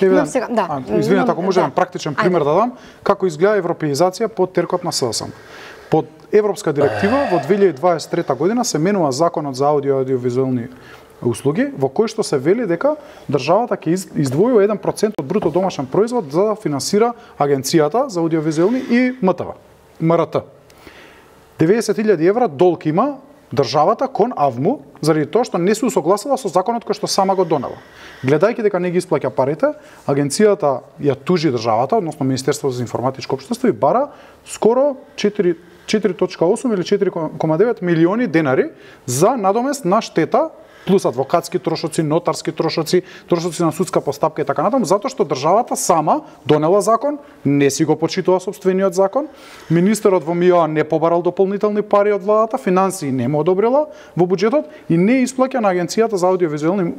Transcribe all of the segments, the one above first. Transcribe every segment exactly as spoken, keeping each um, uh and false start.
Но сега, да. Извинете, ако можам да. практичен пример да дам, како изгледа европеизација под теркот на СДСМ. Под европска директива во две илјади дваесет и трета година се менува законот за аудио и аудиовизуелни услуги, во кој што се вели дека државата ќе издвои еден процент од бруто домашен производ за да финансира агенцијата за аудиовизуелни и МТВ, МРТ. деветдесет илјади евра долг има државата кон АВМУ заради тоа што не се усогласила со законот кој што сама го донела. Гледајќи дека не ги исплаќа парите, агенцијата ја тужи државата, односно Министерството за информатичко општество и бара скоро четири целу осум или четири целу девет милиони денари за надомест на штета плюс адвокатски трошоци, нотарски трошоци, трошоци на судска постапка и така натаму, затоа што државата сама донела закон, не си го почитува сопствениот закон, министерот во МИО не побарал дополнителни пари од владата, финансии не му одобрила во буџетот и не исплаќа на агенцијата за аудиовизуелни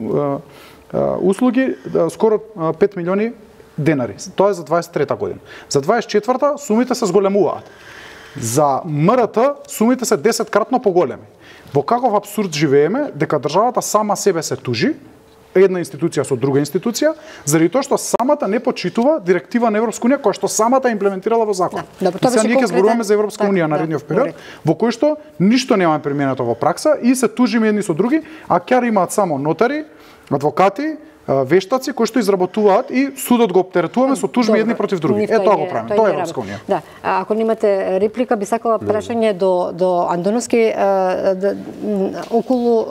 услуги скоро пет милиони денари. Тоа е за дваесет и трета година. За дваесет и четврта сумите се зголемуваат. За МРТ сумите се десет кратно поголеми. Во каков абсурд живееме дека државата сама себе се тужи, една институција со друга институција, заради тоа што самата не почитува директива на Европска унија која што самата имплементирала во закон. Да, добро, сега ние ќе зборуваме за Европска так, унија да, наредниот период, добре. во кој што ништо нема применето во пракса и се тужиме едни со други, а ќе имаат само нотари, адвокати, вештаци кои што изработуваат и судот го оптеретуваме со тужби едни против други. Е тоа го правиме. Тоа е Европска унија. Да, ако немате реплика, би сакала прашање до до Андоновски околу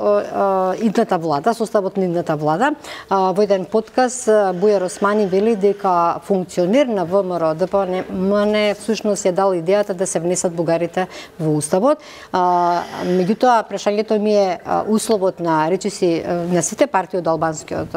идната влада, составот на идната влада. Во еден подкаст Бујар Османи вели дека функционер на ВМРО ДПМН всушност ја дал идејата да се внесат бугарите во уставот. Меѓутоа прашањето ми е условот на речиси на сите партии од албанскиот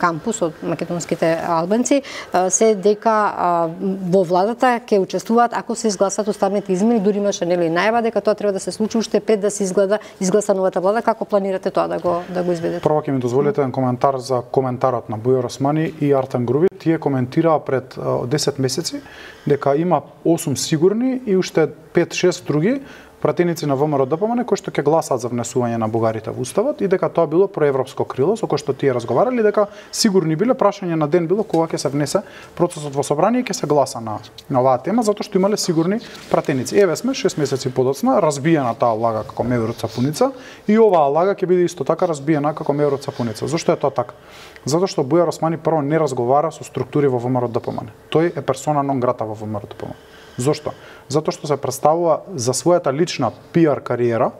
кампус од македонските албанци се дека во владата ќе учествуваат ако се изгласат уставните измени, дури имаше нели најава дека тоа треба да се случи уште пред да се изгледа изгласа новата влада. Како планирате тоа да го да го изведете? Прво ќе ми дозволите еден коментар за коментарот на Бујар Османи и Артем Груби. Тие коментираа пред десет месеци дека има осум сигурни и уште пет-шест други пратеници на ВМРО ДПМН кои што ќе гласаат за внесување на бугарите во уставот и дека тоа било проевропско крило со кој што тие разговарале, дека сигурни биле, прашање на ден било кога ќе се внесе процесот во собрание и ќе се гласа на на оваа тема затоа што имале сигурни пратеници. Еве сме шест месеци подоцна, разбиена таа лага како меур од сапуница и оваа лага ќе биде исто така разбиена како меур од сапуница. Зошто е тоа така? Затоа што Бујар Османи прво не разговара со структури во ВМРО ДПМН. Тој е персона нон грата во ВМРО ДПМН. Зошто? Затоа што се представува за својата лична пиар кариера,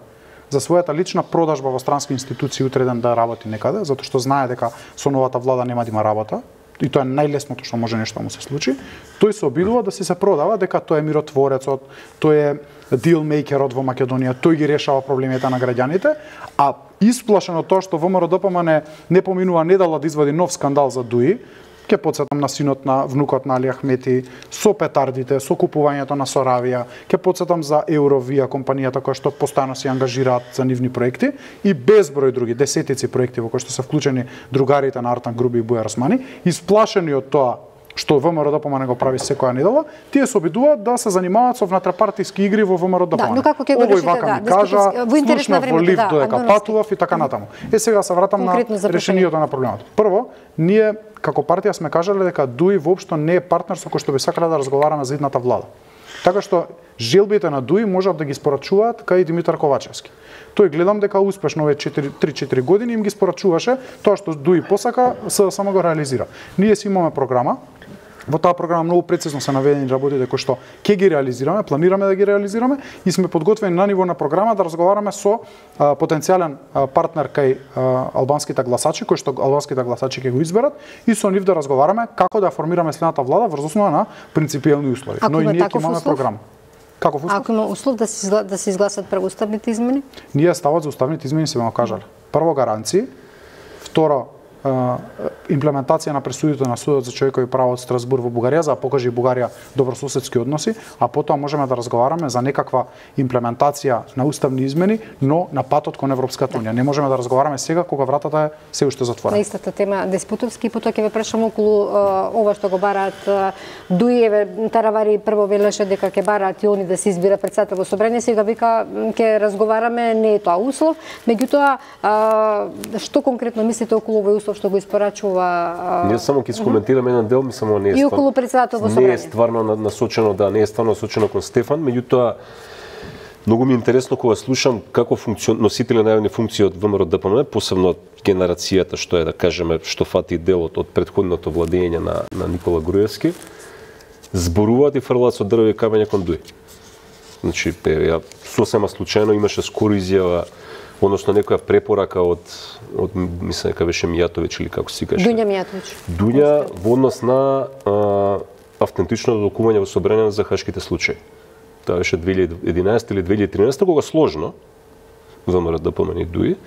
за својата лична продажба во странски институции утре ден да работи некаде, затоа што знае дека со новата влада нема да има работа, и тоа е најлесното што може нешто да му се случи. Тој се обидува да си се продава дека тој е миротворецот, тој е дилмејкерот во Македонија, тој ги решава проблемите на граѓаните, а исплашено тоа што ВМРО ДПМН не поминува недела да извади нов скандал за Дуи, ќе потсетам на синот на внукот на Али Ахмети, со петардите, со купувањето на Соравија, ќе потсетам за Eurovia, компанијата која што постојано се ангажираат за нивни проекти и безброј други, десетици проекти во кои што се вклучени другарите на Артем Груби и Бујар Османи, исплашени од тоа што ВМРО ДПМН го прави секоја недела, тие се обидуваат да се занимаваат со внатрапартиски игри во ВМРО ДПМН. Да, но како ќе го решите, да, кажа, во интерес на времето, во лифт да, додека патував и така натаму. Е сега се вратам на решението на проблемот. Прво, ние како партија сме кажале дека Дуи воопшто не е партнер со кој што би сакале да разговараме за идната влада. Така што желбите на Дуи можат да ги спорачуваат кај Димитар Ковачевски. Тој гледам дека успешно овие три-четири години им ги спорачуваше тоа што Дуи посака, само го реализира. Ние си имаме програма. Во таа програма многу прецизно се наведени работите кои што ќе ги реализираме, планираме да ги реализираме и сме подготвени на ниво на програма да разговараме со а, потенцијален а, партнер кај а, албанските гласачи, кои што албанските гласачи ќе го изберат и со нив да разговараме како да формираме следната влада врз основа на принципиелни услови. Ако Но и ние ќе имаме услов? програма. Каков услов? Ако има услов да се изгла... да се изгласат преуставните измени? Ние ставот за уставните измени се го кажале. Прво гаранции, второ имплементација на пресудите на Судот за човекови права од Страсбург во Бугарија за да покаже Бугарија добрососедски односи, а потоа можеме да разговараме за некаква имплементација на уставни измени, но на патот кон Европската унија. Не можеме да разговараме сега кога вратата е се уште затворена. На истата тема Деспутовски, потоа ќе ве прашам околу ова што го бараат Дуиеве, Таравари прво велеше дека ќе бараат и они да се избира председател во собрание, сега вика ќе разговараме, не е тоа услов, меѓутоа што конкретно мислите околу овој услов услов што го испорачува. Ние само ќе искоментирам еден дел, мислам, не е и околу председател во собрание. Не е стварно насочено, да, не е стварно насочено кон Стефан, меѓутоа многу ми е интересно кога слушам како функцион... носители на јавни функции од ВМРО Д П М Н, посебно генерацијата што е, да кажеме, што фати делот од претходното владење на, на Никола Груевски, зборуваат и фрлаат со дрвени камења кон Дуј. Значи, ја сосема случајно имаше скоро изјава, односно некоја препорака од од мислам дека беше Мијатовиќ или како се каже. Дуња Мијатовиќ. Дуња во однос на а, автентично докумување во собрание за хашките случаи. Тоа беше две илјади и единаесета или две илјади и тринаесета, кога сложно ВМРО Д П М Н и Дуј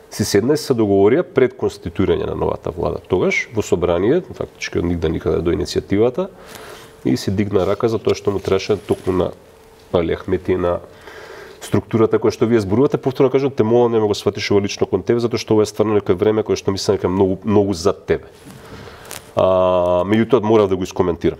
си седна и се договорија пред конституирање на новата влада. Тогаш во собрание, фактички од нигде никаде до иницијативата, и си дигна рака за тоа што му требаше токму на Али Ахмети, на структурата која што вие зборувате. Повторно кажам, те молам, не ме го сватиш ова лично кон тебе, затоа што ова е стварно некој време кое што мислам дека многу многу за тебе. А, меѓутоа морав да го искоментирам.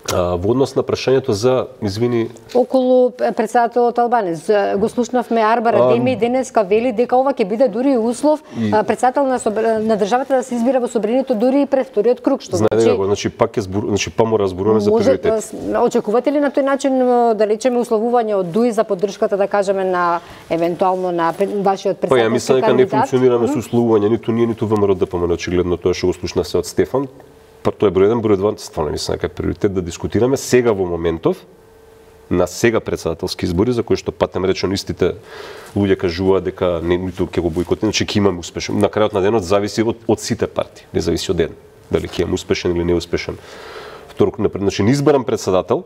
А, во однос на прашањето за, извини, околу председателот Албанец, го слушнавме Арбар Адеми денеска вели дека ова ќе биде дури услов и... председател на, собр... на државата да се избира во собранието дури и пред вториот круг, што знаете значи... значи пак е збор... значи па мора зборуваме за приоритети. Очекувате ли на тој начин да речеме условување од Дуј за поддршката, да кажеме, на евентуално на вашиот председателски кандидат? Па ја мислам дека не функционираме со условување, ниту ние, ниту ВМРО Д П М Н, очигледно тоа што го слушна се од Стефан. Па тоа е број еден, број два, стварно мислам дека е приоритет да дискутираме сега во моментов на сега председателски избори за кои што патем речено истите луѓе кажуваат дека не ниту ќе го бојкотираме, значи ќе имаме успешен. На крајот на денот зависи од, од сите партии, не зависи од еден, дали ќе имаме успешен или неуспешен. Второ, значи не избран председател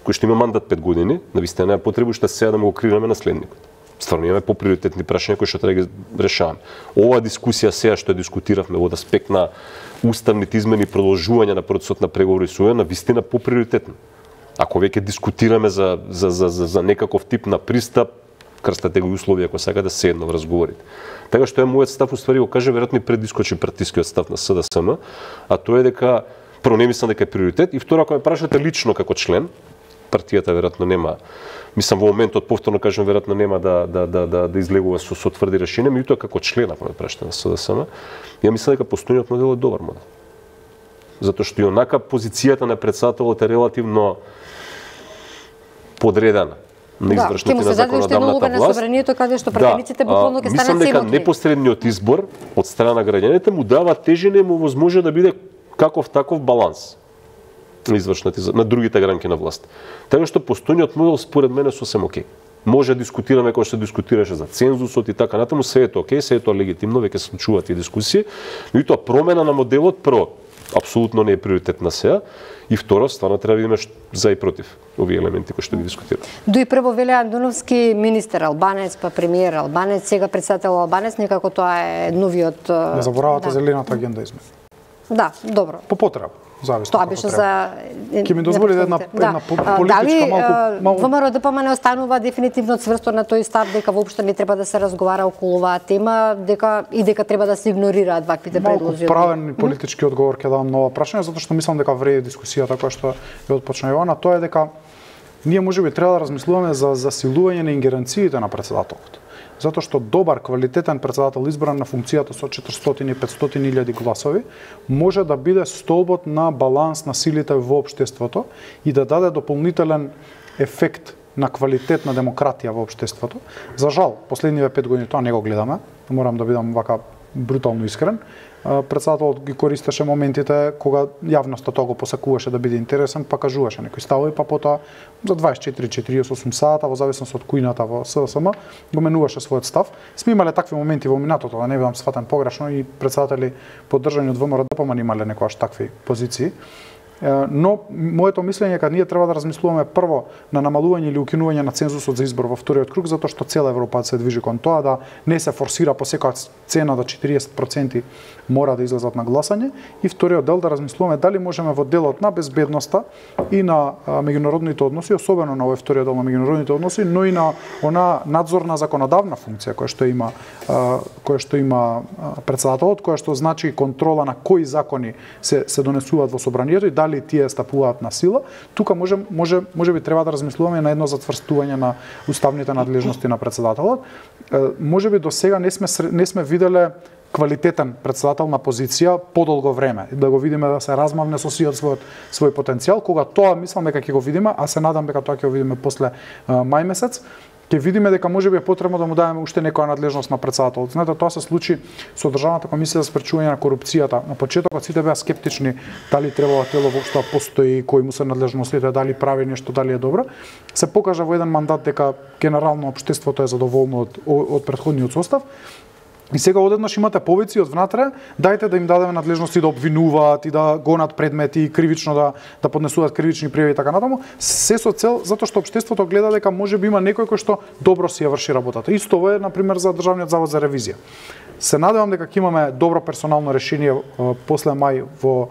кој што има мандат пет години, навистина не е потребно што сега да му го креираме наследникот. Стварно имаме поприоритетни прашања кои што треба да ги решаваме. Оваа дискусија сега што ја дискутиравме во аспект на уставните измени и продолжување на процесот на преговори со ОЕ, на вистина поприоритетно. Ако веќе дискутираме за за за за, за некаков тип на пристап, крстате го услови ако сака да седно во разговорите. Така што е мојот став, уствари го каже веројатно и пред дискочи партискиот став на С Д С М, а тоа е дека прво не мислам дека е приоритет и второ ако ме прашате лично како член, партијата веројатно нема, мислам во моментот повторно кажам веројатно нема да да да да да излегува со со тврди решенија, меѓутоа како член ако ме прашате на С Д С М, ја мислам дека постојниот модел е добар модел. Затоа што и онака позицијата на председателот е релативно подредена на извршната да, на законодавната власт. На собранието каде што пратениците да, буквално ќе станат мислам дека непосредниот избор од страна на граѓаните му дава тежина и му возможно да биде каков таков баланс на извршната на другите гранки на власт. Така што постојниот модел според мене сосем окей. Може да дискутираме кој што дискутираше за цензусот и така натаму, се е тоа окей, се е тоа легитимно, веќе се случуваат тие дискусии, но и тоа промена на моделот прво апсолутно не е приоритет на сега и второ стварно треба да видиме за и против овие елементи кои што ги дискутираме. Дуј прво Веле Андуновски, министер албанец, па премиер албанец, сега председател албанец, некако тоа е новиот. Не заборавате да. Зелената агенда измени. Да, добро. По потреба. Зависно. Тоа беше за ќе ми дозволи една една политичка малку малку ВМРО Д П М Н останува дефинитивно цврсто на тој став дека воопшто не треба да се разговара околу оваа тема, дека и дека треба да се игнорираат ваквите предлози. Малку правен политички одговор ќе дам на ова прашање, затоа што мислам дека вреди дискусијата која што ја отпочна Јована, тоа е дека ние можеби треба да размислуваме за засилување на ингеренциите на председателот. Затоа што добар, квалитетен председател избран на функцијата со четиристотини и петстотини илјади гласови може да биде столбот на баланс на силите во општеството и да даде дополнителен ефект на квалитет на демократија во општеството. За жал, последниве пет години тоа не го гледаме, морам да бидам вака брутално искрен. Председателот ги користеше моментите кога јавноста тоа го посакуваше да биде интересен, па кажуваше некои ставови, па потоа за дваесет и четири до четириесет и осум сата во зависност од кујната во С Д С М го менуваше својот став. Сме имале такви моменти во минатото, да не бидам сфатен погрешно, и председатели поддржани од ВМРО Д П М Н имале некојаш такви позиции. Но моето мислење е дека ние треба да размислуваме прво на намалување или укинување на цензусот за избор во вториот круг, затоа што цела Европа се движи кон тоа да не се форсира по секоја цена до четириесет проценти мора да излезат на гласање, и вториот дел да размислуваме дали можеме во делот на безбедноста и на а, меѓународните односи, особено на овој вториот дел на меѓународните односи, но и на она надзорна законодавна функција која што има а, која што има председателот, која што значи контрола на кои закони се се донесуваат во собранието и дали тие стапуваат на сила. Тука може може може би треба да размислуваме на едно затврстување на уставните надлежности на председателот. Може би до сега не сме не сме виделе квалитетен председател на позиција подолго време, да го видиме да се размавне со сиот својот свој потенцијал. Кога тоа мислам дека ќе го видиме, а се надам дека тоа ќе го видиме после а, мај месец, ќе видиме дека можеби е потребно да му дадеме уште некоја надлежност на председателот. Знаете, тоа се случи со Државната комисија за спречување на корупцијата. На почетокот сите беа скептични дали требало тело воопшто постои, кои му се надлежностите, дали прави нешто, дали е добро. Се покажа во еден мандат дека генерално општеството е задоволно од од претходниот состав. И сега одеднаш имате повици од внатре, дајте да им дадеме надлежности да обвинуваат и да гонат предмети и кривично да да поднесуваат кривични пријави и така натаму, се со цел затоа што општеството гледа дека можеби има некој кој што добро си ја врши работата. Исто ова е на пример за Државниот завод за ревизија. Се надевам дека ќе имаме добро персонално решение после мај во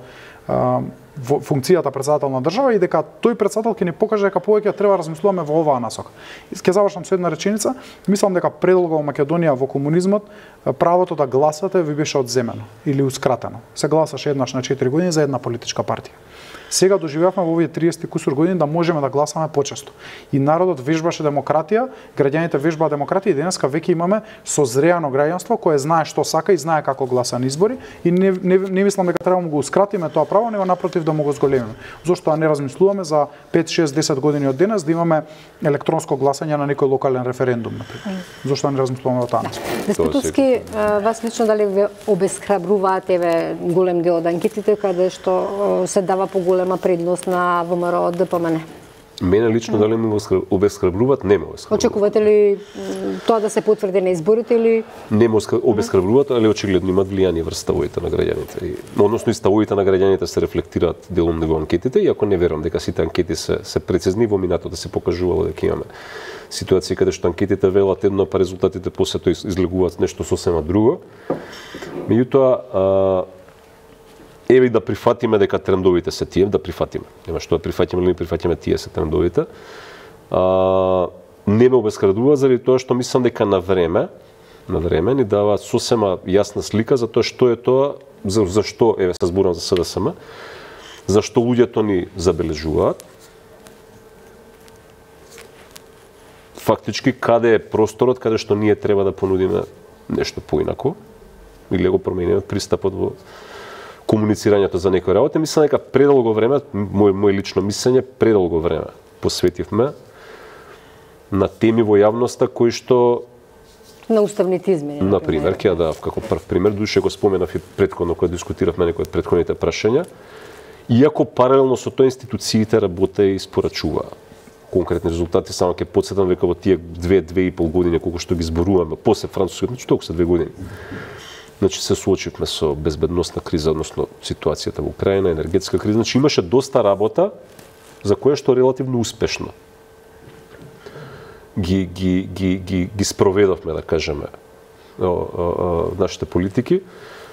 во функцијата председател на држава и дека тој председател ќе ни покаже дека повеќе треба да размислуваме во оваа насока. И ќе завршам со една реченица. Мислам дека предолго во Македонија во комунизмот правото да гласате ви беше одземено или ускратено. Се гласаше еднаш на четири години за една политичка партија. Сега доживеавме во овие триесет кусур години да можеме да гласаме почесто. И народот вежбаше демократија, граѓаните вежбаа демократија и денеска веќе имаме созреано граѓанство кое знае што сака и знае како гласа на избори и не, не, не мислам дека треба да го ускратиме тоа право, него напротив да му го зголемиме. Зошто не размислуваме за пет, шест, десет години од денес да имаме електронско гласање на некој локален референдум, например. Зошто не размислуваме во таа? Деспотовски, вас лично дали ве обесхрабруваат еве голем дел од анкетите каде што се дава поголема предност на ВМРО ДПМН? Мене лично дали ме обесхрабруваат, не ме обесхрабруваат. Очекувате ли тоа да се потврди на изборите или не ме обесхрабруваат, али очигледно имаат влијание врз ставовите на граѓаните. Односно и ставовите на граѓаните се рефлектираат делом него анкетите, иако не верувам дека сите анкети се се прецизни, во минатото се покажувало дека имаме ситуации каде што анкетите велат едно, па резултатите после тоа излегуваат нешто сосема друго. Меѓутоа, еве да прифатиме дека трендовите се тие, да прифатиме. Нема што да прифатиме или не прифатиме, тие се трендовите. А, не ме обесхрабрува заради тоа што мислам дека на време, на време ни дава сосема јасна слика за тоа што е тоа, за зашто еве се зборам за СДСМ, зашто луѓето ни забележуваат. Фактички каде е просторот каде што ние треба да понудиме нешто поинако или го промениме пристапот во комуницирањето за некои работи. Мислам дека предолго време, мој, мој лично мислење, предолго време посветивме на теми во јавноста кои што на уставните измени, на пример, ќе да како прв пример, душе го споменав и претходно кога дискутиравме некои од претходните прашања, иако паралелно со тоа институциите работе и испорачуваа конкретни резултати, само ќе потсетам дека во тие две, две и пол години колку што ги зборуваме после францускиот, значи толку се две години. Значи се суочивме со безбедносна криза, односно ситуацијата во Украина, енергетска криза, значи имаше доста работа за која што релативно успешно ги ги ги ги ги спроведовме, да кажеме, о, о, о, нашите политики.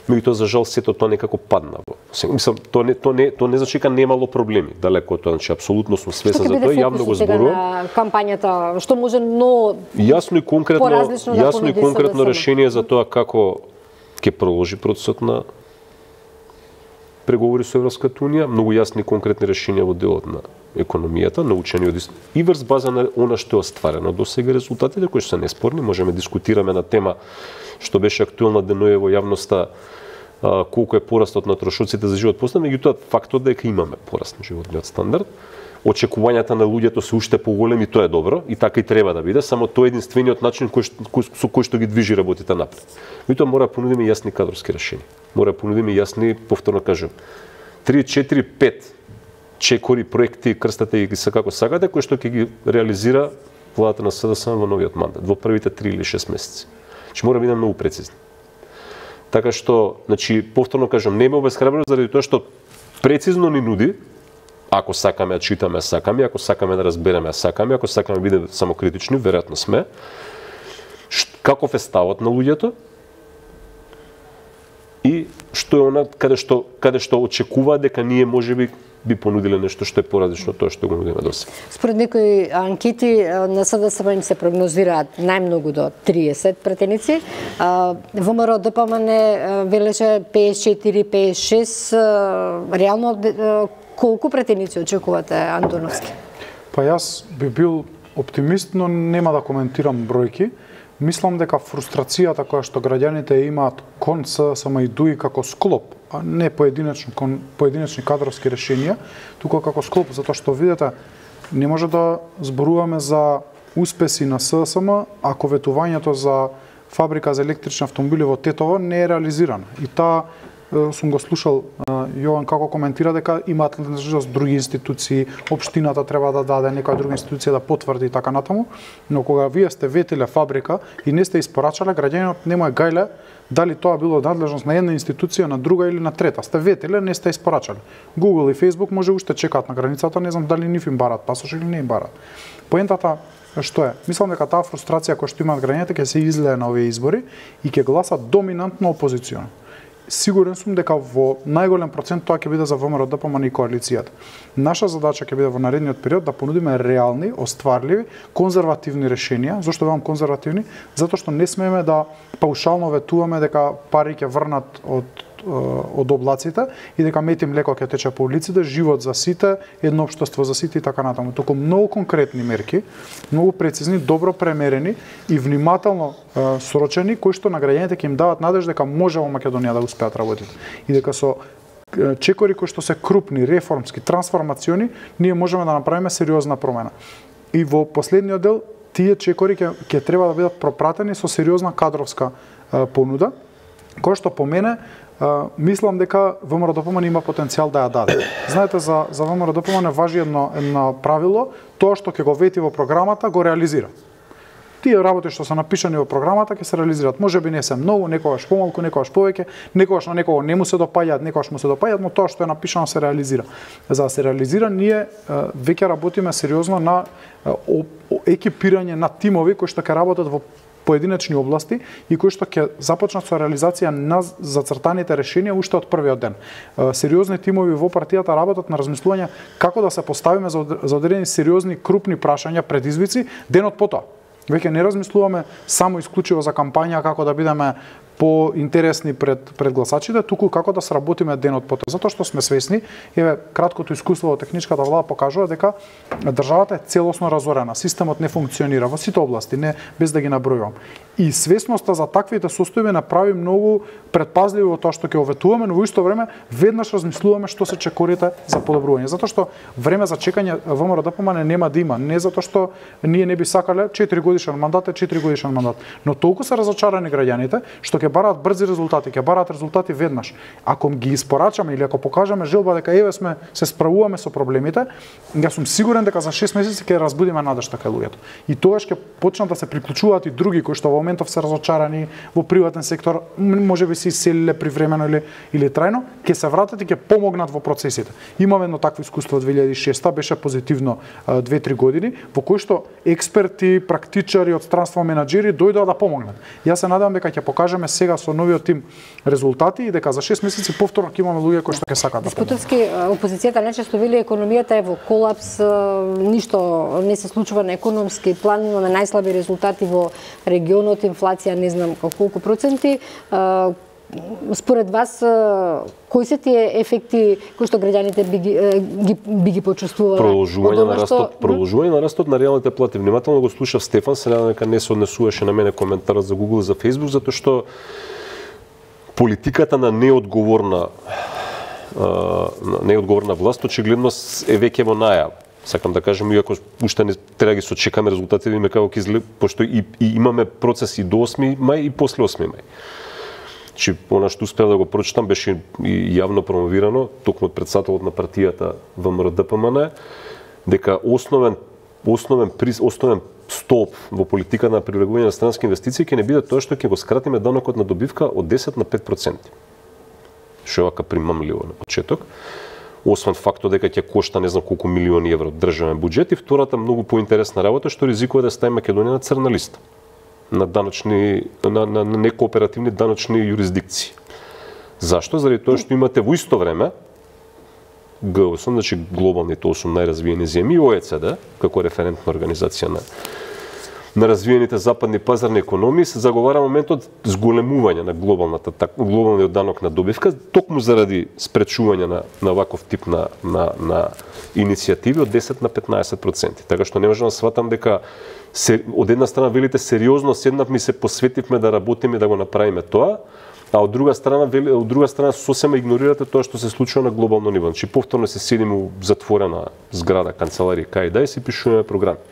Меѓутоа за жал сето тоа некако падна. Мислам, тоа не тоа не тоа не значи дека немало проблеми, далеко од тоа, значи апсолутно сум свесен за тоа, јавно го зборувам. Кампањата, што може но јасно и конкретно, да јасно и конкретно решение за тоа како ќе продолжи процесот на преговори со Европската унија, многу јасни и конкретни решенија во делот на економијата, научени од и врз база на она што е остварено до сега, резултатите кои се неспорни, можеме дискутираме на тема што беше актуелна деноје во јавноста, колку е порастот на трошоците за живот после, меѓутоа фактот дека имаме пораст на животниот стандард, очекувањата на луѓето се уште поголеми, тоа е добро и така и треба да биде, само тоа е единствениот начин кој, кој, со кој што ги движи работите напред. Меѓутоа мора да понудиме јасни кадрски решенија. Мора да понудиме јасни, повторно кажам, три, четири, пет чекори, проекти, крстате и ги се како сакате, кои што ќе ги реализира владата на СДСМ во новиот мандат, во првите три или шест месеци. Значи мора да бидеме многу прецизни. Така што, значи, повторно кажам, не ме обесхрабрува заради тоа што прецизно ни нуди, ако сакаме да читаме, сакаме, ако сакаме да разбереме, сакаме, ако сакаме да бидеме самокритични, веројатно сме. Каков е ставот на луѓето? И што е она каде што каде што очекува дека ние можеби би понудиле нешто што е поразлично од тоа што го нудиме досега. Според некои анкети на СДСМ им се прогнозираат најмногу до триесет пратеници. ВМРО ДПМН велеше песет и четири песет и шест. Реално колку пратеници очекувате, Антоновски? Па јас би бил оптимист, но нема да коментирам бројки. Мислам дека фрустрацијата која што граѓаните имаат кон СДСМ и ДУИ како склоп, а не поединечни кон поединечни кадровски решенија, туку како склоп, затоа што видите, не може да зборуваме за успеси на СДСМ ако ветувањето за фабрика за електрични автомобили во Тетово не е реализирано. И таа сум го слушал Јован како коментира дека имаат надлежност други институции, општината треба да даде, некоја друга институција да потврди и така натаму, но кога вие сте ветиле фабрика и не сте испорачале, граѓанинот не му е гајле дали тоа било надлежност на една институција, на друга или на трета. Сте ветиле, не сте испорачале. Google и Facebook може уште чекаат на границата, не знам дали нив им барат пасош или не им барат. Поентата што е? Мислам дека таа фрустрација која што имаат граѓаните ќе се излее на овие избори и ќе гласат доминантно опозиционо. Сигурен сум дека во најголем процент тоа ќе биде за ВМРО ДПМН и коалицијата. Наша задача ќе биде во наредниот период да понудиме реални, остварливи, конзервативни решенија. Зошто велам конзервативни? Затоа што не смееме да паушално ветуваме дека пари ќе врнат од од облаците и дека мет и млеко ќе тече по улиците, живот за сите, едно општество за сите и така натаму. Току многу конкретни мерки, многу прецизни, добро премерени и внимателно е, срочени, кои што на граѓаните ќе им дават надеж дека може во Македонија да успеат работите. И дека со чекори кои што се крупни, реформски, трансформациони, ние можеме да направиме сериозна промена. И во последниот дел тие чекори ќе ќе треба да бидат пропратени со сериозна кадровска е, понуда, која што по мене Uh, мислам дека ВМРО ДПМН има потенцијал да ја даде. Знаете, за, за ВМРО ДПМН важи едно, едно правило, тоа што ќе го вети во програмата, го реализира. Тие работи што се напишани во програмата ќе се реализираат. Може би не се многу, некогаш помалку, некогаш повеќе, некогаш на некого не му се допаѓаат, некогаш му се допаѓаат, но тоа што е напишано се реализира. За да се реализира, ние uh, веќе работиме сериозно на uh, екипирање на тимови кои што ќе работат во поединечни области и кои што ќе започнат со реализација на зацртаните решенија уште од првиот ден. Сериозни тимови во партијата работат на размислување како да се поставиме за одредени сериозни крупни прашања, предизвици денот потоа. Веќе не размислуваме само исклучиво за кампања како да бидеме поинтересни пред пред гласачите, туку како да сработиме денот потоа. Затоа што сме свесни, еве краткото искуство во техничката влада покажува дека државата е целосно разорена, системот не функционира во сите области, не без да ги набројувам. И свесноста за таквите состојби направи многу предпазливи во тоа што ќе оветуваме, но во исто време веднаш размислуваме што се чекорите за подобрување. Затоа што време за чекање ВМРО ДПМН нема да има, не затоа што ние не би сакале четири годишен мандат е четири годишен мандат, но толку се разочарани граѓаните што ќе бараат брзи резултати, ќе бараат резултати веднаш. Ако ги испорачаме или ако покажеме желба дека еве сме се справуваме со проблемите, јас сум сигурен дека за шест месеци ќе разбудиме надежта кај луѓето. И тогаш ќе почнат да се приклучуваат и други кои што во моментов се разочарани во приватен сектор, можеби се иселиле привремено или или трајно, ќе се вратат и ќе помогнат во процесите. Имаме едно такво искуство од две илјади и шеста, беше позитивно две-три години, во кои што експерти, практичари од странство менаџери дојдоа да помогнат. Јас се надевам дека ќе покажеме сега со новиот тим резултати и дека за шест месеци повторно ќе имаме луѓе кои што ќе сакаат да помогнат. Деспотовски, опозицијата нечесто вели економијата е во колапс, ништо не се случува на економски план, имаме најслаби резултати во регионот, инфлација не знам колку проценти. Според вас, кои се тие ефекти кои што граѓаните би ги, ги, би ги почувствувале? Продолжување на растот, продолжување на растот на реалните плати. Внимателно го слушав Стефан, се надевам дека не се однесуваше на мене коментарот за Google, за Facebook, затоа што политиката на неодговорна на неодговорна власт очигледно е веќе во најава. Сакам да кажем, иако уште не треба да ги сочекаме резултатите, видиме како ќе изгледа, пошто и, и имаме процеси до осми мај и после осми мај. Чи она што успеав да го прочитам беше и јавно промовирано токму од претседателот на партијата ВМРО ДПМН дека основен основен основен столб во политиката на привлекување на странски инвестиции ќе не биде тоа што ќе го скратиме данокот на добивка од десет на пет проценти. Што е вака примамливо на почеток. Освен фактот дека ќе кошта не знам колку милиони евро државен буџет и втората многу поинтересна работа што ризикува да стави Македонија на црна листа на даночни на, на, на некооперативни даночни јурисдикции. Зашто? Заради тоа што имате во исто време Г осум, значи глобалните осум најразвиени земји, О Е Це Де, како референтна организација на на развиените западни пазарни економии, се заговара моментот зголемување на глобалната глобалниот данок на добивка, токму заради спречување на на ваков тип на на на иницијативи од десет на петнаесет проценти. Така што не можам да сватам дека се, од една страна велите сериозно седнавме и се посветивме да работиме да го направиме тоа, а од друга страна вели, од друга страна сосема игнорирате тоа што се случува на глобално ниво. Значи повторно се седиме у затворена зграда, канцеларија кај да и се пишуваме програми.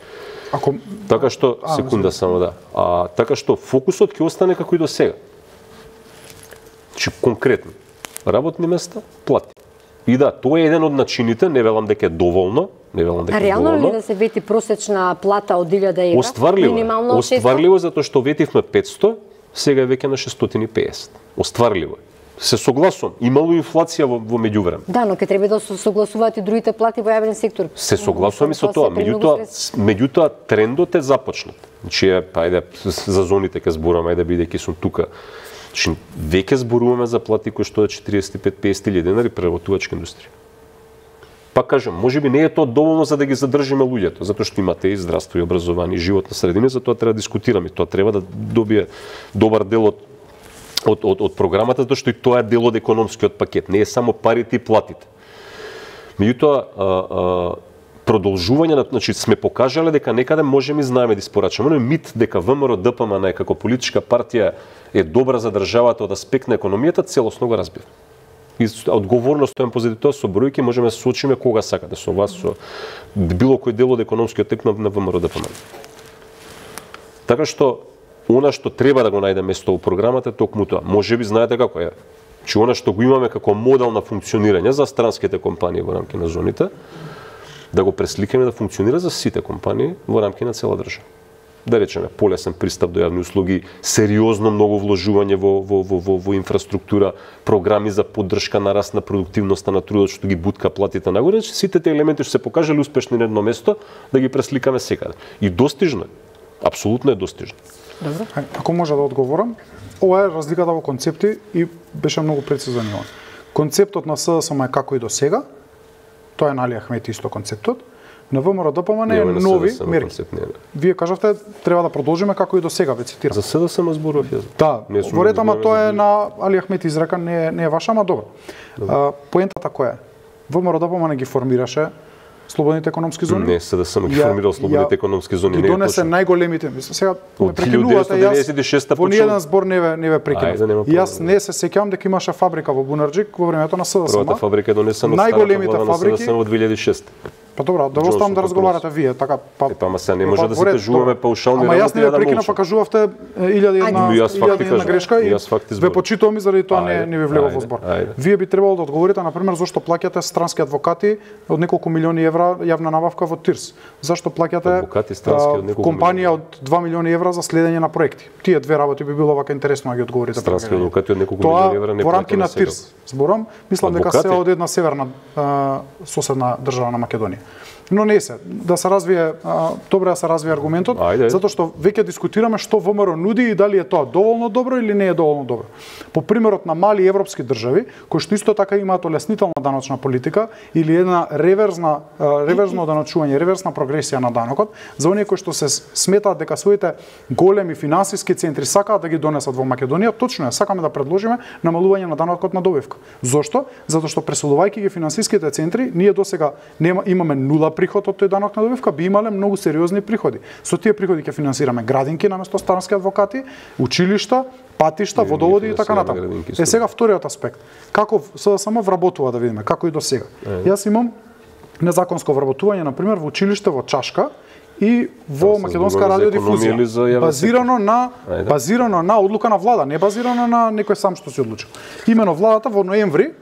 Ако... Така што, а, секунда само да, а, така што фокусот ќе остане како и до сега. Значи, конкретно, работни места, плати. И да, тоа е еден од начините, не велам дека е доволно, не велам дека е реално доволно. ли да се вети просечна плата од илјада евра? Остварливо, минимално остварливо затоа што ветивме петсто, сега е веќе на шестстотини и педесет. Остварливо е. Се согласувам, имало инфлација во, во меѓувреме. Да, но ќе треба да се согласуваат и другите плати во јавен сектор. Се согласувам и со тоа, меѓутоа, меѓутоа трендот е започнат. Значи, ајде за зоните ќе зборуваме, ајде бидејќи сум тука. Значи, веќе зборуваме за плати кои што е четириесет и пет до педесет илјади денари преработувачка индустрија. Пак кажам, можеби не е тоа доволно за да ги задржиме луѓето, затоа што имате и здравство и образование, и животна средина, затоа треба да дискутираме. Тоа треба да добие добар дел од Од, од, од програмата, затоа што и тоа е дел од економскиот пакет. Не е само парите и платите. Меѓутоа, продолжување на, значи сме покажале дека некаде можеме и знаеме да испорачаме, но мит дека Вэ Ем Ер Д П М Н како политичка партија е добра за државата од аспект на економијата, целосно го разбира. И одговорност стојам позади тоа со бројки, можеме да се соочиме кога сакате со вас, со било кој дел од економскиот тек на Вэ Ем Ер Д П М Н. Така што она што треба да го најде место во програмата е токму тоа. Можеби знаете како е. Че она што го имаме како модел на функционирање за странските компании во рамки на зоните, да го пресликаме да функционира за сите компании во рамки на цела држава. Да речеме, полесен пристап до јавни услуги, сериозно многу вложување во, во, во, во, во инфраструктура, програми за поддршка на раст на продуктивноста на трудот што ги бутка платите нагоре, сите тие елементи што се покажале успешни на едно место, да ги пресликаме секаде. И достижно е. Апсолутно е достижно. Добро. Ако може да одговорам, ова е разликата во концепти и беше многу прецизен Јован. Концептот на С Д С М е како и до сега, тоа е на Али Ахмети исто концептот, на Вэ Ем Ер Д П М Н е нови мерки. Вие кажавте треба да продолжиме како и до сега, ве цитирам. За С Д С М зборував јас. Да, во ред, ама тоа е на Али Ахмети изрека, не, не е ваша, ама добро. А, поентата која е? Вэ Ем Ер Д П М Н ги формираше слободните економски зони? Не, С Д С М ги формирал слободните економски зони. Ги донесе најголемите, сега ме од прекинувате, јас во ниеден збор не ве не ве прекинав. Јас не се сеќавам дека имаше фабрика во Бунарџик во времето на С Д С М. Првата фабрика е донесена од најголемите фабрики во две илјади и шеста. Па добро, да оставам да разговарате вие, така па. Е, па ама сега не може да се кажуваме паушални работи. Ама јас не ве прекинав, па кажувавте илјади и една грешка и ве почитувам и заради тоа не не ви влегов во збор. Вие би требало да одговорите на пример зошто плаќате странски адвокати од неколку милиони евра јавна набавка во ТИРС. Зашто плаќате компанија од два милиони евра за следење на проекти. Тие две работи би било вака интересно да ги одговорите. Странски адвокати од неколку милиони евра не во рамки на ТИРС. Зборам, мислам дека се од една северна соседна држава на Македонија. Но не се, да се развие, добро да се развие аргументот, Ајде. Затоа што веќе дискутираме што Вэ Ем Ер нуди и дали е тоа доволно добро или не е доволно добро. По примерот на мали европски држави, кои што исто така имаат олеснителна даночна политика или една реверзна реверзно даночување, реверсна прогресија на данокот, за оние кои што се сметаат дека своите големи финансиски центри сакаат да ги донесат во Македонија, точно е, сакаме да предложиме намалување на данокот на добивка. Зошто? Затоа што преселувајќи ги финансиските центри, ние досега нема имаме нула приход од тој данок на добивка, би имале многу сериозни приходи. Со тие приходи ќе финансираме градинки наместо странски адвокати, училишта, патишта, водоводи и така натаму. Е сега вториот аспект. Како С Д С М вработува да видиме, како и до сега. Јас имам незаконско вработување на пример во училиште во Чашка и во Македонска радиодифузија, базирано на базирано на одлука на влада, не базирано на некој сам што се одлучил. Имено владата во ноември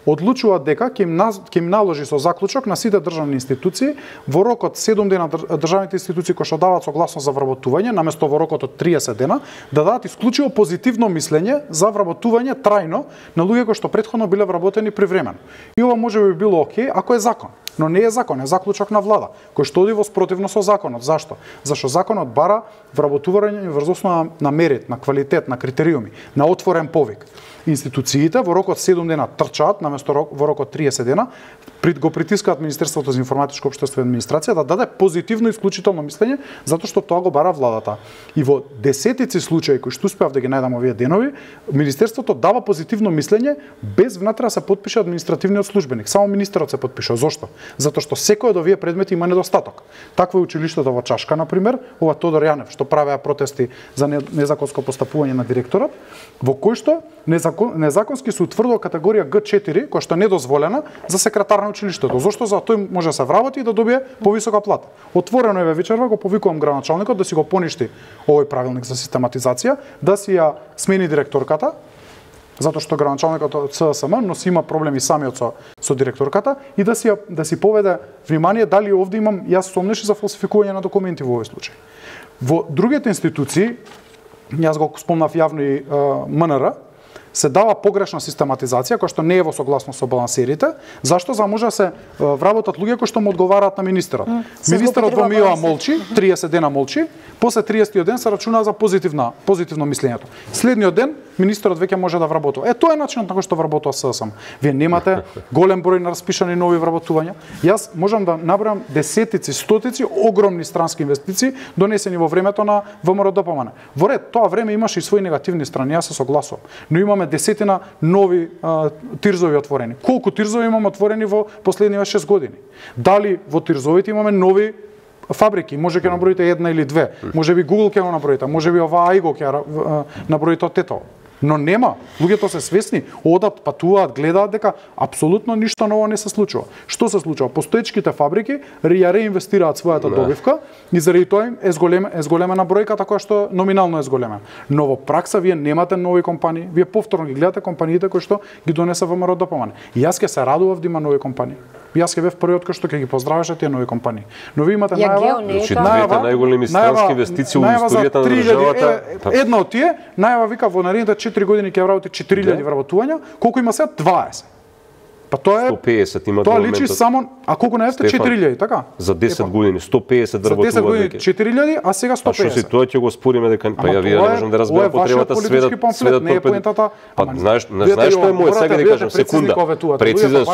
одлучува дека ќе им, ќе им наложи со заклучок на сите државни институции во рок од седум дена државните институции кои што даваат согласност за вработување, наместо во рокот од триесет дена, да дадат исклучиво позитивно мислење за вработување трајно на луѓе кои што претходно биле вработени привремено. И ова може би било окей ако е закон. Но не е закон, е заклучок на влада, кој што оди во спротивно со законот. Зашто? Зашто законот бара вработување врз основа на мерит, на квалитет, на критериуми, на отворен повик. институциите во рок од седум дена трчаат наместо рок, во рок од триесет дена, пред го притискаат Министерството за информатичко општество и администрација да даде позитивно исклучително мислење, затоа што тоа го бара владата. И во десетици случаи кои што успеав да ги најдам овие денови, Министерството дава позитивно мислење без внатре да се подпише административниот службеник. Само министерот се подпишува. Зошто? Затоа што секој од овие предмети има недостаток. Такво е училиштето во Чашка, на пример, ова Тодор Јанев, што правеа протести за незаконско постапување на директорот, во кој што незакон, незаконски се утврдува категорија Г четири, која што е недозволена за секретар на училиштето. Зошто? За тој може да се вработи и да добие повисока плата. Отворено е вечерва, го повикувам градоначалникот да си го поништи овој правилник за систематизација, да си ја смени директорката, затоа што градоначалникот од С С М, но си има проблеми самиот со, со директорката, и да си, да си поведе внимание дали овде имам јас сомнеши за фалсификување на документи во овој случај. Во другите институции, јас го спомнав јавно и М Н Р, се дава погрешна систематизација која што не е во согласност со балансерите, зашто за може да се вработат луѓе кои што му одговараат на министерот. Mm. Министерот во МИО молчи, триесет дена молчи, после триесетиот ден се рачуна за позитивна позитивно мислењето. Следниот ден министерот веќе може да вработува. Е, тоа е начинот на кој што вработува С С М. Вие немате голем број на распишани нови вработувања. Јас можам да набројам десетици, стотици огромни странски инвестиции донесени во времето на В М Р Д П М Н. Во ред, тоа време имаше и своји негативни страни, јас се согласувам. Но имаме десетина нови а, тирзови отворени. Колку тирзови имаме отворени во последниве шест години? Дали во тирзовите имаме нови фабрики? Може ќе наброите една или две. Може би Google ќе го наброите, може би ова Ајго ќе наброите од тето. Но нема. Луѓето се свесни, одат, патуваат, гледаат дека апсолутно ништо ново не се случува. Што се случува? Постоечките фабрики ја реинвестираат својата да. добивка и заради тоа е зголем, е зголемена бројката која што номинално е зголемена. Но во пракса вие немате нови компании, вие повторно ги гледате компаниите кои што ги донесе В М Р Д П М Н. И јас ќе се радував да има нови компании. Јас ќе бев првиот кој што ќе ги поздравеше тие нови компании. Но ви имате најава, значи двете најголеми странски инвестиции во историјата на државата. Една од тие, најава вика во наредните четири години ќе вработи четири илјади вработувања, колку има сега дваесет. Па тоа е сто пеесет има тоа личи само, а колку најавте четири илјади, така? За десет години сто пеесет вработуваат. За десет години четири илјади, а сега сто пеесет. А што си тоа ќе го спориме дека па ја вие не можам да разберам потребата сведат сведат не е поентата. Па знаеш, не знаеш што е мој сега да кажам секунда. Прецизно.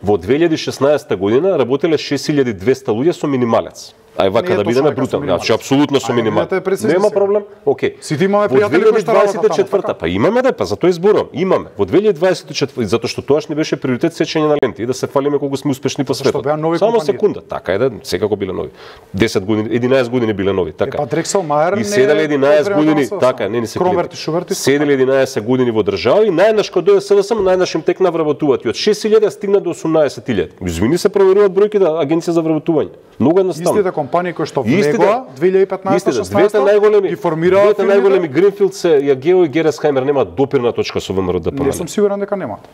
Во две илјади и шеснаесета година работеле шест илјади и двесте луѓе со минималец. Ај вака да бидеме брутални, значи апсолутно со минималец. Нема проблем. Океј. Сите имаме пријатели кои што работат две илјади и дваесет и четврта, па имаме да, па за тоа зборувам. Имаме. Во две илјади дваесет и четврта, затоа што тоаш не беше приоритет сечење на ленти и да се фалиме колку сме успешни по светот. Само секунда, така е да секако биле нови. десет години, единаесет години биле нови, така. Па Дрексел Мајер и седеле единаесет години, така, не ни се клима. Седеле единаесет години во држава и најнаш кога дојде С Д С М, најнаш им текна вработуваат и од шест илјади стигна до осумнаесет илјади. Извини се проверуваат бројките на Агенција за вработување. Многу едноставно. Истите компании кои што влегоа две илјади и петнаесета шеснаесета двете најголеми и формираа двете најголеми Гринфилд се Јагео и Гересхаймер немаат допирна точка со В М Р Д П М Н. Не сум сигурен дека немаат.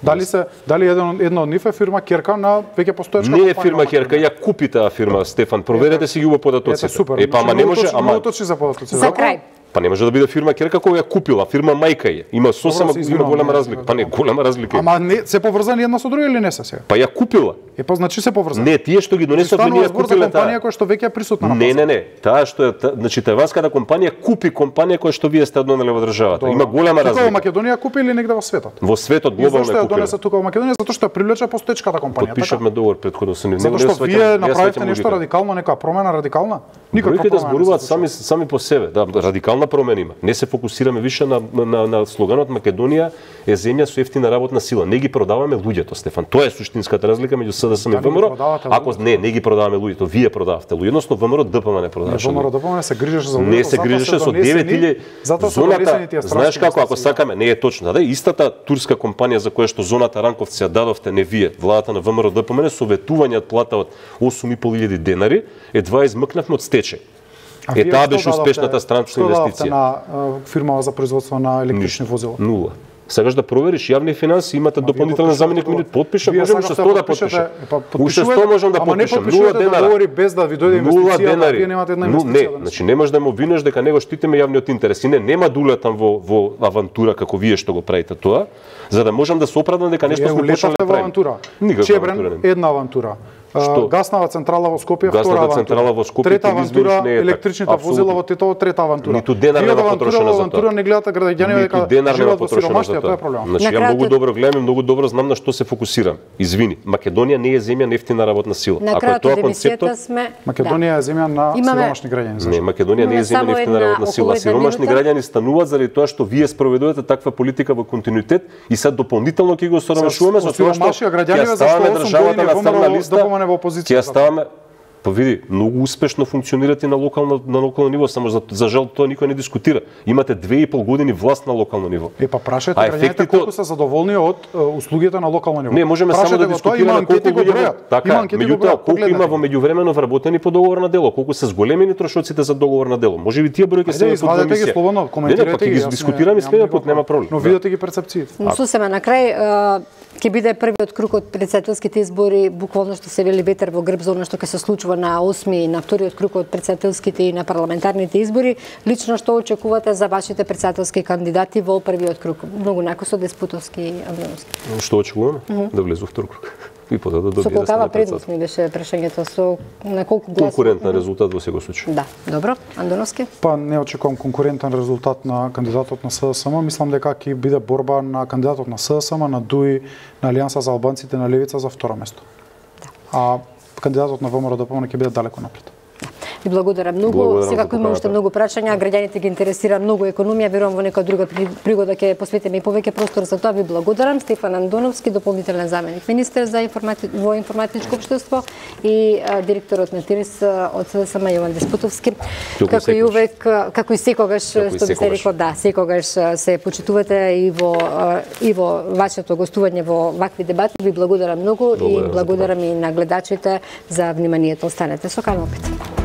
Дали се дали еден една од нив е фирма Керка на веќе постоечка компанија? Не е фирма Керка, ја купи таа фирма Стефан. Проверете си ги во податоците. Е па ама не може, ама точно за податоците. За крај. Па не може да биде фирма Керка која ја купила, фирма мајка е. Има сосема има голема разлика. Па не, голема разлика. Ама не се поврзани една со друга или не се сега? Па ја купила. Е па значи се поврзани. Не, тие што ги донесоа не ја купиле таа компанија која што веќе е присутна на пазарот. Не, не, не. Таа што е, значи тајванската компанија купи компанија која што вие сте донеле во државата. Има голема разлика. Тука во Македонија купи или негде во светот? Во светот глобално е купила. Зошто ја донесе тука во Македонија? Затоа што ја привлече постоечката компанија. Подпишавме договор претходно со нив. Затоа што вие направивте нешто радикално, некоја промена радикална? Никаква да зборуваат сами сами по себе. Да, радикална промена има. Не се фокусираме више на на на слоганот Македонија е земја со ефтина работна сила. Не ги продаваме луѓето, Стефан. Тоа е суштинската разлика меѓу С Д С М и В М Р. Ако не, не ги продаваме луѓето, вие продавате луѓе, едносно В М Р Д П М Н не продаваше. В М Р Д П М Н се грижеше за луѓето. Не се грижеше со девет илјади зоната. Знаеш како ако сакаме, не е точно, да, истата турска компанија за која што зоната Ранковци ја дадовте не вие, владата на В М Р Д П М Н со ветување од плата од осум и пол илјади денари, едва измкнавме од стечај. Е, таа беше успешната странична инвестиција. На фирма за производство на електрични возила. Нула. Сакаш да провериш јавни финанси, имате дополнителен заменик минут, подпишам, можам уште сто да подпишам. Уште сто можам да подпишам. Нула денари. Без да ви дојде инвестиција, вие немате една инвестиција. Не, значи не можеш да ме обвинеш дека него штитиме јавниот интерес. И не, нема да улетам во во авантура како вие што го правите тоа, за да можам да се оправдам дека нешто сме почнали да правиме. Чебрен една авантура. Што? Гаснава централа во Скопје, Гаснава втора авантура. централа во Скопје, трета ти ги авантура, измениш, не е така. електричните Апсолутно. возила во Тетово, трета авантура. Ниту денар Тие нема авантура, потрошено за авантура тоа. не гледате граѓаните Ниту дека денар нема живеат во потрошено сиромаштија, за тоа е тоа. проблемот. Значи, На ја крајот- многу добро гледам и многу добро знам на што се фокусирам. Извини, Македонија не е земја нефтина работна сила. На Ако е крајот тоа од емисијата концептот, сме Македонија е земја на Имаме- сиромашни граѓани. не, зашто? Македонија не е Имаме земја само нефтина една- работна сила. околу една Сиромашни минута. граѓани стануваат заради тоа што вие спроведувате таква политика во континуитет и sad дополнително ќе го соромашуваме со тоа што Сиромашија граѓани, ќе зашто ставаме осум државата години на ВМРО црна листа, да помане во опозиција. ќе ставаме. Па види, многу успешно функционирате на локално на локално ниво, само за, за жал тоа никој не дискутира. Имате две и пол години власт на локално ниво. Е, па прашајте А граѓаните ефектите колку од- се задоволни од е, услугите на локално ниво. Не, можеме само Прашајте да го тоа, дискутираме има анкети колку го луѓе бројат. во- така, Има анкети го меѓутоа бројат, колку има погледнете. во меѓувремено вработени по договор на дело, колку се зголемени трошоците за договор на дело. Може би тие бројки се Ајде, под извадете ги емисија. слободно, Не, не, па коментирајте ќе ги. ги јас не- дискутираме немам следниот пат, никаков нема проблем. Но Да. видете ги перцепциите. Но сосема на крај а, ќе биде првиот круг од претседателските избори, буквално што се вели ветер во грб за она што ќе се случува на осми и на вториот круг од претседателските и на парламентарните избори. Лично што очекувате за вашите претседателски кандидати во првиот круг? Многу накусо Деспутовски и Андоновски. Што очекуваме? Да влезе во втор круг. И потоа да Со добие да колкава стане предност председател. ми беше прашањето, со на колку гласови? Конкурентен резултат во секој случај. Да, добро. Андоновски? Па не очекувам конкурентен резултат на кандидатот на СДСМ. Мислам дека ќе биде борба на кандидатот на СДСМ, на ДУИ, на Алијанса за албанците, на Левица за второ место. Да. А кандидатот на ВМРО ДПМН ќе биде далеко напред. Ви благодарам многу. Благодарам Секако за има уште поканата. многу прашања, граѓаните ги интересира многу економија, верувам во некоја друга при- пригода ќе посветиме и повеќе простор за тоа. Ви благодарам. Стефан Андоновски, дополнителен заменик министер за информати... во информатичко општество и а, директорот на ТИРИС а, од СДСМ Јован Деспутовски. Туку Како и секогаш. увек, а, како и секогаш, Како и што би се секогаш. рекло, да, секогаш а, се почитувате и во а, и во вашето гостување во вакви дебати. Ви благодарам многу и Благодарам за благодарам и на гледачите за вниманието. Останете со Канал пет.